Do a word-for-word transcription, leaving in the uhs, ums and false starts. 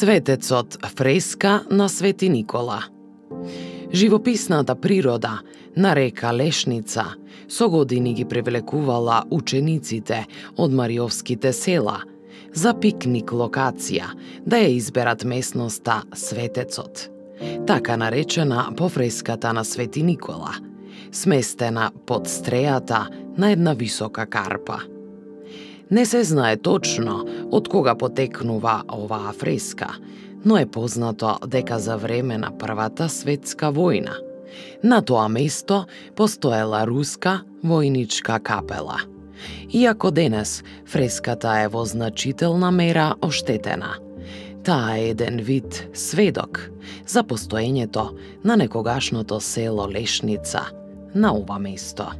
Светецот фреска на Свети Никола. Живописната природа на река Лешница со години ги привлекувала учениците од Мариовските села за пикник локација да ја изберат местноста Светецот, така наречена по фреската на Свети Никола, сместена под стрејата на една висока карпа. Не се знае точно од кога потекнува оваа фреска, но е познато дека за време на Првата светска војна на тоа место постоела руска војничка капела. Иако денес фреската е во значителна мера оштетена, таа е еден вид сведок за постоењето на некогашното село Лешница на ова место.